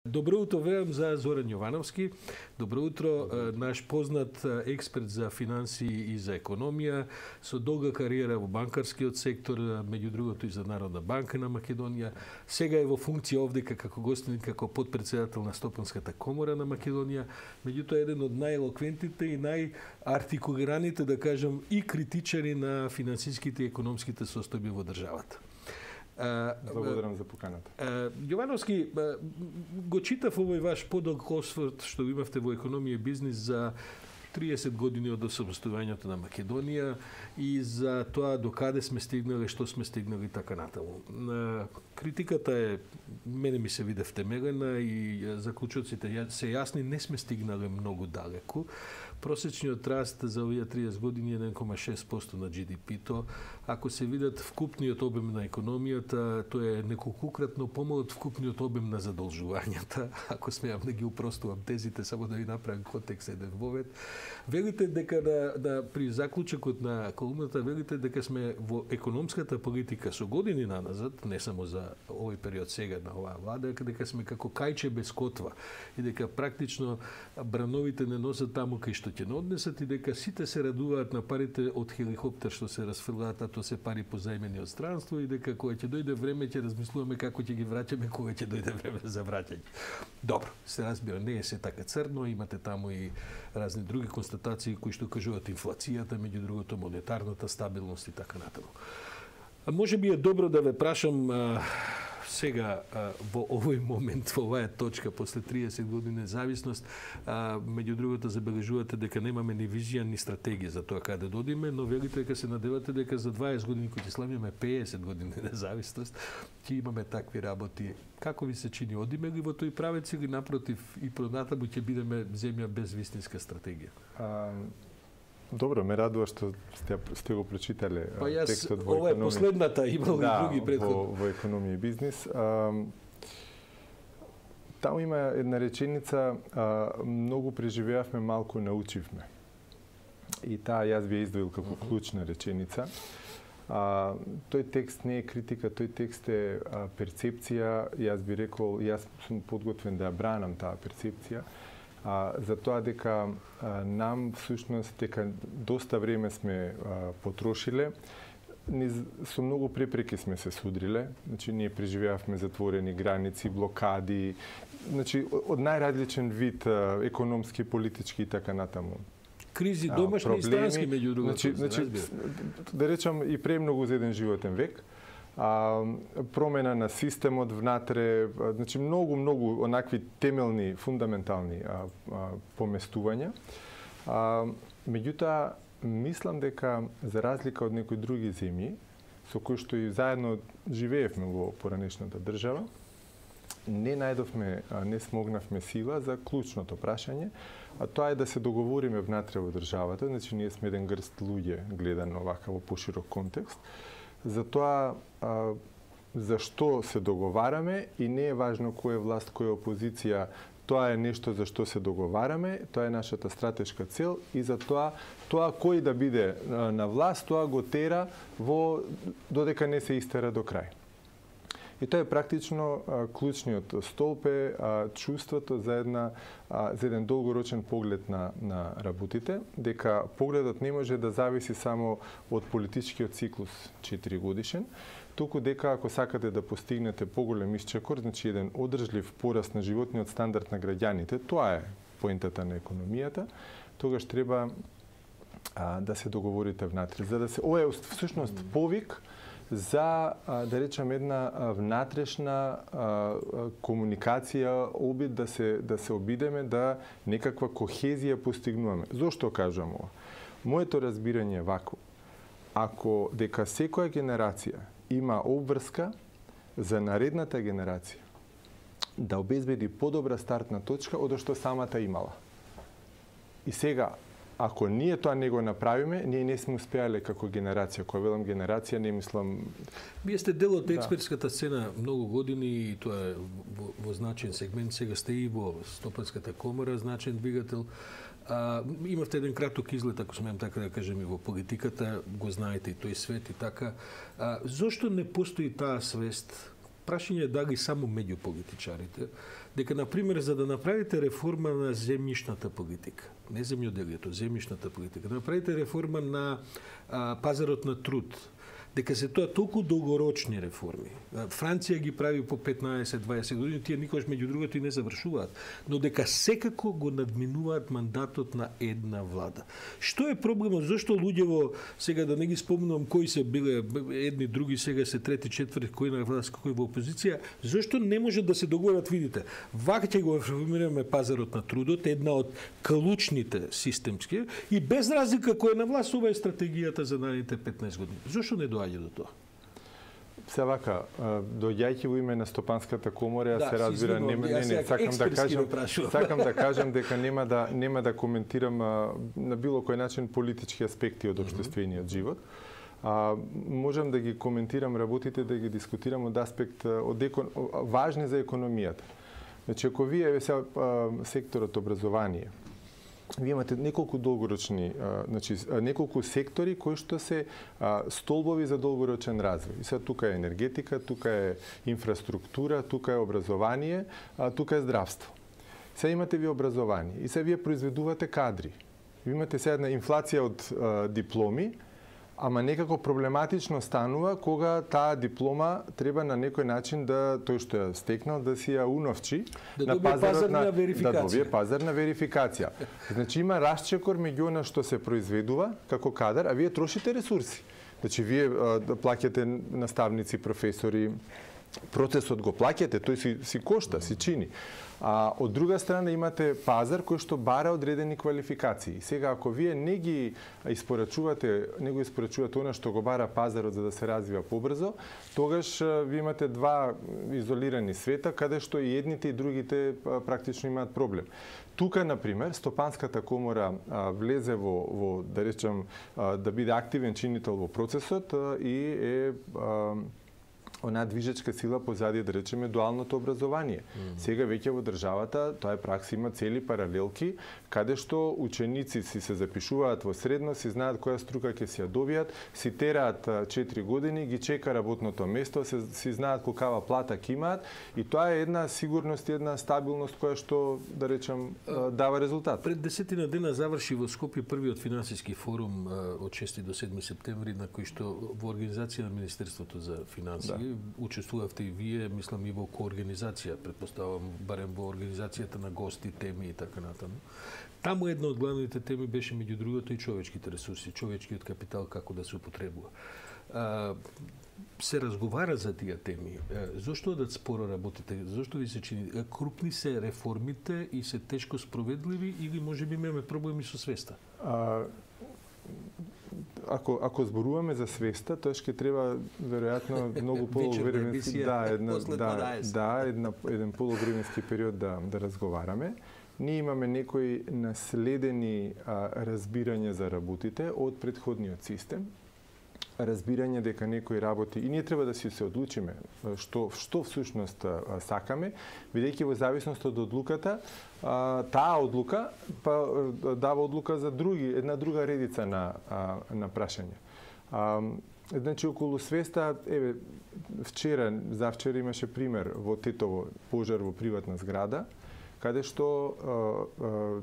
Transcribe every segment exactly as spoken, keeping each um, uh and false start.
Добро утро, верам за Зоран Јовановски. Добро утро, наш познат експерт за финансии и за економија, со долга кариера во банкарскиот сектор, меѓу другото и за Народна банка на Македонија. Сега е во функција овде како гостин, како подпредседател на Стопанската комора на Македонија. Меѓутоа еден од најелоквентните и најартикулираните, да кажам, и критичари на финансиските и економските состојби во државата. Благодарам за поканата. Јовановски, го читав овој ваш подолг осврт што имавте во економија и бизнис за триесет години од осамостојувањето на Македонија и за тоа до каде сме стигнали, што сме стигнали и така натаму. Критиката е, мене ми се виде втемелена и заклучоците се јасни, не сме стигнали многу далеку. Просечниот раст за овие триесет години е еден кома шест проценти на Джи Ди Пи-то. Ако се видат вкупниот обем на економијата, тоа е неколкукратно помал од вкупниот обем на задолжувањата. Ако смеам да ги упростувам тезите, само да ви направам контекст еден вовед. Велите дека да, да при заклучокот на колумната велите дека сме во економската политика со години наназад, не само за овој период сега на оваа влада, дека сме како кајче без котва и дека практично брановите не носат таму кај што ќе не однесат и дека сите се радуваат на парите од хеликоптер што се расфрлаат, а тоа се пари позајмени од странство и дека кога ќе дојде време ќе размислуваме како ќе ги враќаме кога ќе дојде време за враќање. Добро, се разбира, не е се така црно, имате таму и разни други констатации кои што кажуваат инфлацијата, меѓу другото монетарната стабилност и така натаму. А може би е добро да ве прашам а, сега а, во овој момент, во оваа точка, после триесет години независност, а, меѓу другото забележувате дека немаме ни визија, ни стратегија за тоа каде додиме, но велите дека се надевате дека за дваесет години, кои ќе славиме пеесет години независност, ќе имаме такви работи. Како ви се чини, одиме ли во тој правец или напротив и пронатаму ќе бидеме земја без вистинска стратегија? А, добро, ме радува што сте, сте го прочитале па јас, текстот во ова е последната, имало да, и други предходни. Во, во економија и бизнис. А, таму има една реченица, а, многу преживеавме, малку научивме. И таа јас би ја издвоил како клучна реченица. А, тој текст не е критика, тој текст е а, перцепција. Јас би рекол, јас сум подготвен да ја бранам таа перцепција. А, за тоа дека а, нам всушност дека доста време сме а, потрошиле, низ, со многу препреки сме се судриле. Значи ние преживеавме затворени граници, блокади, значи од најразличен вид а, економски, политички и така натаму. Кризи домашни и странски, меѓу другото. Значи, значи, да речам и премногу за еден животен век. А, промена на системот внатре, значи многу, многу онакви темелни, фундаментални а, а, поместувања. А, меѓутоа, мислам дека за разлика од некои други земји, со кои што и заедно живеевме во поранешната држава, не најдовме, не смогнавме сила за клучното прашање, а тоа е да се договориме внатре во државата, значи ние сме еден грст луѓе гледано вака во поширок контекст, за тоа а, за што се договараме и не е важно кој е власт, кој е опозиција, тоа е нешто за што се договараме, тоа е нашата стратешка цел и за тоа тоа кој да биде на власт, тоа го тера во додека не се истера до крај. И тоа е практично а, клучниот столб е а, чувството за една а, за еден долгорочен поглед на на работите, дека погледот не може да зависи само од политичкиот циклус четири годишен, туку дека ако сакате да постигнете поголем исчекор, значи еден одржлив пораст на животниот стандард на граѓаните, тоа е поентата на економијата, тогаш треба а, да се договорите внатре, за да се ова е всушност повик за, да речем, една внатрешна комуникација, обид да се да се обидеме да некаква кохезија постигнуваме. Зошто кажам ова? Моето разбирање е вакво. Ако дека секоја генерација има обврска за наредната генерација да обезбеди подобра стартна точка од што самата имала. И сега, ако ние тоа не го направиме, ние не сме успеале како генерација. Кога велам генерација, не мислам... Вие сте дел од експертската сцена многу години и тоа е во, во значен сегмент. Сега сте и во Стопанската комора, значен двигател. А, имавте еден краток излет, ако смеам така да кажем, и во политиката, го знаете и тој свет и така. А, зошто не постои таа свест прашање е дали само меѓу политичарите, дека, например, за да направите реформа на земјишната политика, не земјоделието, земјишната политика, да направите реформа на а, пазарот на труд, дека се тоа толку долгорочни реформи. Франција ги прави по петнаесет дваесет години, тие никош меѓу другото и не завршуваат, но дека секако го надминуваат мандатот на една влада. Што е проблемот? Зошто луѓево, сега да не ги спомнувам кои се биле едни, други, сега се трети, четврти, кој на власт, кој во опозиција, зошто не може да се договорат, видите, вака ќе го реформираме пазарот на трудот, една од клучните системски, и без разлика кој е на власт, ова е стратегијата за наредните петнаесет години. Зошто не доаѓа до тоа? Се вака, доаѓајќи во име на Стопанската комора, да, се разбира, не, не, не, сакам да кажам, сакам да кажам дека нема да нема да коментирам а, на било кој начин политички аспекти од општествениот живот. А, можам да ги коментирам работите, да ги дискутирам од аспект од екон... важни за економијата. Значи, ако вие се секторот образование, вие имате неколку долгорочни, а, значи неколку сектори кои што се а, столбови за долгорочен развој. И сега тука е енергетика, тука е инфраструктура, тука е образование, а, тука е здравство. Сега имате ви образование и сега вие произведувате кадри. Ви имате сега една инфлација од а, дипломи, ама некако проблематично станува кога таа диплома треба на некој начин да тој што ја стекнал да си ја уновчи да на пазарот на верификација. Да добие пазарна верификација. Значи има расчекор меѓу она што се произведува како кадар, а вие трошите ресурси. Значи вие а, да плаќате наставници, професори, процесот го плаќате, тој си си кошта, си чини. А од друга страна имате пазар кој што бара одредени квалификации. Сега ако вие не ги испорачувате, не го испорачувате она што го бара пазарот за да се развива побрзо, тогаш ви имате два изолирани света каде што и едните и другите практично имаат проблем. Тука, например, Стопанската комора а, влезе во, во да речем, а, да биде активен чинител во процесот а, и е а, она движечка сила позади, да речеме, дуалното образование. Mm -hmm. Сега веќе во државата, тоа е пракса, има цели паралелки, каде што ученици си се запишуваат во средно, си знаат која струка ќе си ја добијат, си тераат четири години, ги чека работното место, се, си знаат колкава плата ќе имаат, и тоа е една сигурност и една стабилност која што, да речем, дава резултат. Пред десетина дена заврши во Скопје првиот финансиски форум од шести до седми септември, на кој што во организација на Министерството за финансии, да, учествувавте и вие, мислам и во коорганизација, предпоставам, барем во организацијата на гости, теми и така натаму. Таму една од главните теми беше меѓу другото и човечките ресурси, човечкиот капитал, како да се употребува. А, се разговара за тие теми. Зошто одат споро работите? Зошто ви се чини? Крупни се реформите и се тешко спроведливи или можеби имаме проблеми со свеста? А, Ако ако зборуваме за свеста, тоа ќе треба веројатно многу полувременски, да, една да, да, една еден полувременски период да да разговараме. Ние имаме некои наследени а, разбирања за работите од претходниот систем. Разбирање дека некои работи и ние треба да си се одлучиме што што всушност сакаме, бидејќи во зависност од одлуката, таа одлука па дава одлука за други, една друга редица на на прашања. Значи околу свеста, еве вчера, завчера имаше пример во Тетово, пожар во приватна зграда, каде што а, а,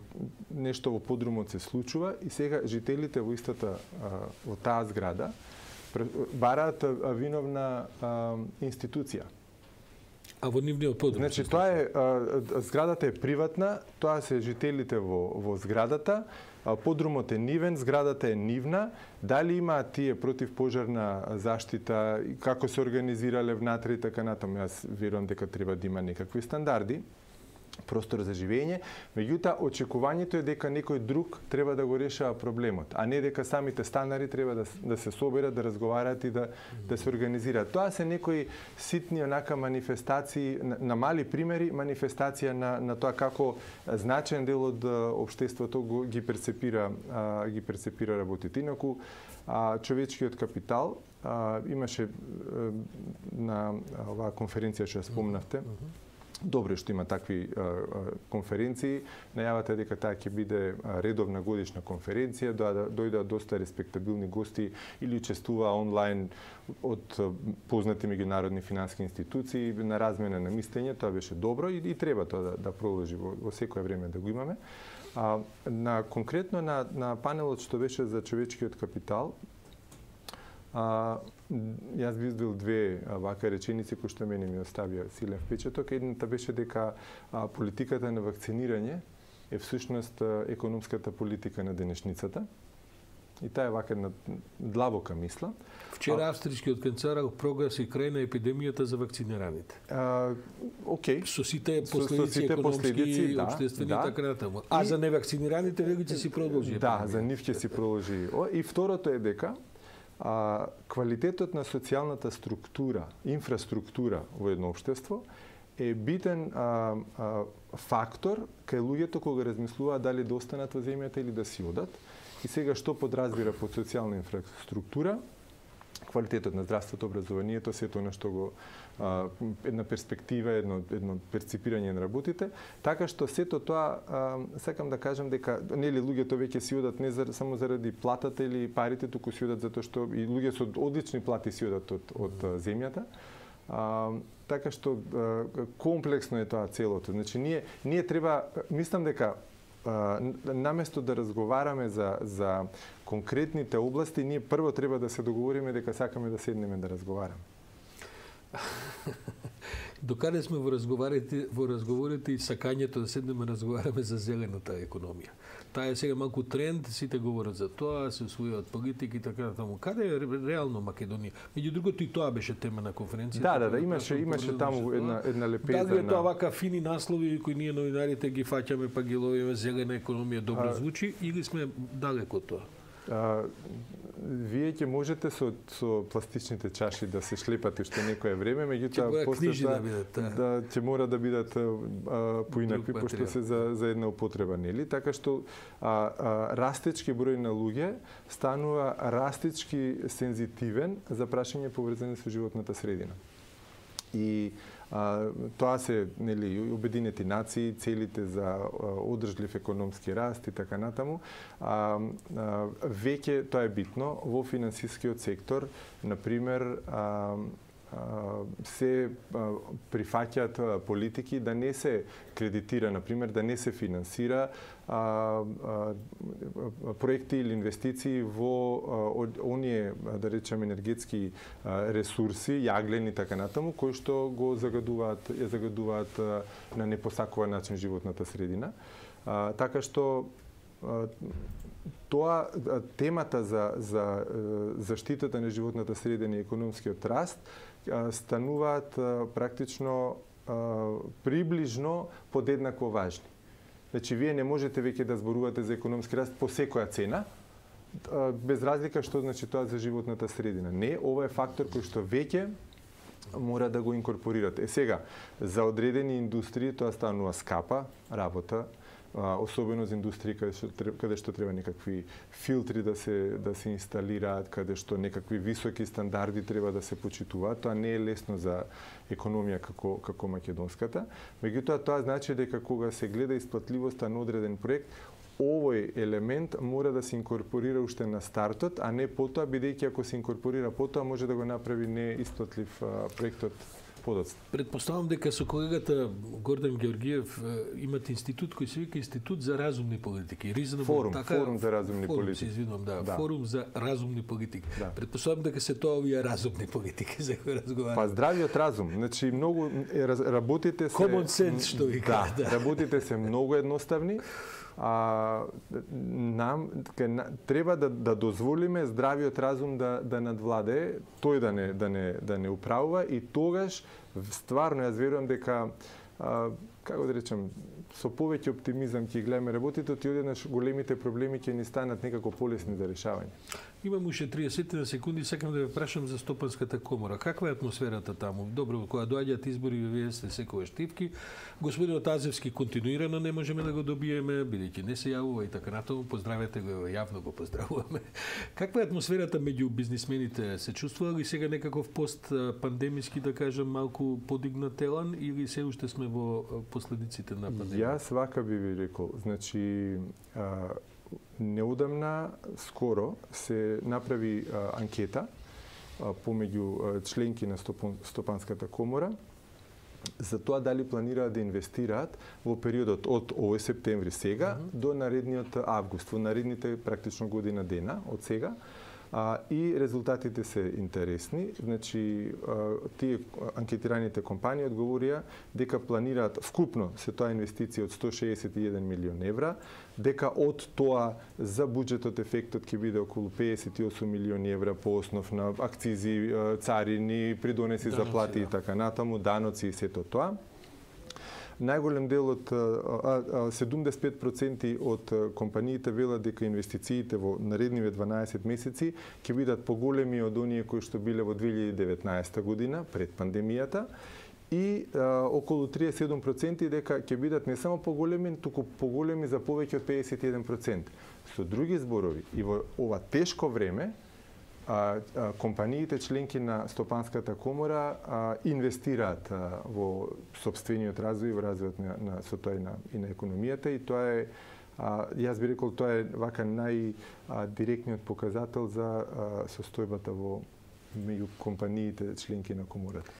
нешто во подрумот се случува и сега жителите во истата а, во таа зграда бараат виновна а, институција. А во нивниот подрум? Значи тоа е а, зградата е приватна, тоа се жителите во во зградата, а, подрумот е нивен, зградата е нивна. Дали има тие противпожарна заштита, како се организирале внатре и така натаму, јас верувам дека треба да има некакви стандарди, простор за живење, меѓутоа очекувањето е дека некој друг треба да го решава проблемот, а не дека самите станари треба да, да се соберат, да разговараат и да, да се организираат. Тоа се некои ситни онака манифестации, на, на мали примери, манифестација на, на тоа како значен дел од општеството го, ги перцепира, а, ги перцепира работите. Инаку, а, човечкиот капитал а, имаше а, на оваа конференција што ја спомнавте, Добро што има такви а, а, конференции. Најавата е дека таа ќе биде редовна годишна конференција, да дојдат доста респектабилни гости или учествува онлайн од познати меѓународни финансиски институции на размена на мислење. Тоа беше добро и, и треба тоа да, да продолжи во, во секое време да го имаме. А, на конкретно на, на панелот што беше за човечкиот капитал, А, јас би издвоил две вака реченици кои што мене ми оставија силен впечаток. Едната беше дека а, политиката на вакцинирање е всушност економската политика на денешницата. И таа е вака една длабока мисла. Вчера австрискиот канцелар прогласи крај на епидемијата за вакцинираните. А, окей. Со сите последици со сите економски, последици, да, општествени да. и така натаму. А и, за невакцинираните веќе ќе си продолжи. Да, за нив ќе си продолжи. И второто е дека а, квалитетот на социјалната структура, инфраструктура во едно општество е битен а, а, фактор кај луѓето кога размислуваат дали да останат во земјата или да си одат. И сега што подразбира под социјална инфраструктура? Квалитетот на здравството, образованието, сето она што го а, една перспектива, едно едно перципирање на работите, така што сето тоа а, сакам да кажам дека нели луѓето веќе си одат не за, само заради платата или парите, туку си одат затоа што и луѓе со одлични плати си одат од од земјата. А, така што а, комплексно е тоа целото. Значи ние ние треба, мислам дека наместо да разговараме за за конкретните области, ние прво треба да се договориме дека сакаме да седнеме да разговараме. Докаде сме во разговорите, во разговорите и сакањето да седнеме да разговараме за зелената економија. Таа е сега малку тренд, сите говорат за тоа, се усвојуваат политики и така натаму. Каде е реално Македонија? Меѓу другото и тоа беше тема на конференцијата. Да, да, да, имаше имаше таму една една лепеза. Дали е тоа вака фини наслови кои ние новинарите ги фаќаме па ги ловиме, зелена економија добро а, звучи, или сме далеко од тоа? А, вие ќе можете со со пластичните чаши да се шлепате уште некое време, меѓутоа после тоа да, да ќе мора да бидат а, поинакви пошто се за за една употреба, нели? Така што а, а, растечки број на луѓе станува растечки сензитивен за прашање поврзани со животната средина. И а, тоа се нели Обединети нации, целите за а, одржлив економски раст и така натаму. А, а, веќе тоа е битно во финансискиот сектор, на пример, а, се прифаќаат политики да не се кредитира, на пример, да не се финансира а, а, проекти или инвестиции во а, оние, да речем, енергетски а, ресурси, јаглени и така натаму, кои што го загадуваат, ја загадуваат а, на непосакуван начин животната средина. А, така што а, тоа темата за за заштитата на животната средина и економскиот раст стануваат практично приближно подеднакво важни. Значи, вие не можете веќе да зборувате за економски раст по секоја цена, без разлика што значи тоа за животната средина. Не, ова е фактор кој што веќе мора да го инкорпорирате. Е сега, за одредени индустрии тоа станува скапа работа, особено за индустрии каде што каде што треба некакви филтри да се да се инсталираат, каде што некакви високи стандарди треба да се почитуваат. Тоа не е лесно за економија како како македонската. Меѓутоа тоа значи дека кога се гледа исплатливоста на одреден проект, овој елемент мора да се инкорпорира уште на стартот, а не потоа, бидејќи ако се инкорпорира потоа може да го направи неисплатлив проектот подоцна. Предпоставам дека со колегата Гордан Георгиев имат институт кој се вика Институт за разумни политики. Reasonable, форум, така, форум за разумни форум, политики. Се извинувам, да, да. Форум за разумни политики. Да. Предпоставам дека се тоа овие разумни политики за кои разговараме. Па здравиот разум, значи многу работите се common sense што вика. Да, да, работите се многу едноставни. А нам ке, треба да да дозволиме здравиот разум да да надвладе, тој да не да не да не управува и тогаш стварно јас верувам дека а, како да речем, со повеќе оптимизам ќе гледаме работите, и одеднаш големите проблеми ќе ни станат некако полесни за решавање. Имам уште триесет секунди, сакам да ве прашам за Стопанската комора. Каква е атмосферата таму? Добро, кога доаѓаат избори, вие сте секогаш штивки. Господинот Азевски континуирано не можеме да го добиеме, бидејќи не се јавува и така натаму. Поздравете го, јавно го поздравуваме. Каква е атмосферата меѓу бизнисмените? Се чувствува ли сега некаков пост пандемиски, да кажам, малку подигнат елан или се уште сме во последиците на пандемија? Јас вака би ви рекол, значи а, неудамна, скоро се направи а, анкета а, помеѓу а, членки на Стопан, Стопанската комора за тоа дали планираат да инвестираат во периодот од овој септември сега mm -hmm. до наредниот август, во наредните практично година дена од сега. А, и резултатите се интересни. Значи, а, тие анкетираните компании одговорија дека планираат вкупно се тоа инвестиција од сто шеесет и еден милион евра, дека од тоа за буџетот ефектот ќе биде околу педесет и осум милиони евра по основ на акцизи, царини, придонеси за плати и така натаму, даноци и сето тоа. Најголем дел од седумдесет и пет проценти од компаниите велат дека инвестициите во наредниве дванаесет месеци ќе бидат поголеми од оние кои што биле во две илјади и деветнаесета година пред пандемијата и а, околу триесет и седум проценти дека ќе бидат не само поголеми, туку поголеми за повеќе од педесет и еден процент. Со други зборови, и во ова тешко време А, а, компаниите членки на Стопанската комора а, инвестираат а, во сопствениот развој, во развојот на, на со тоа и на, и на економијата, и тоа е, а, јас би рекол, тоа е вака најдиректниот показател за а, состојбата во меѓу компаниите членки на комората.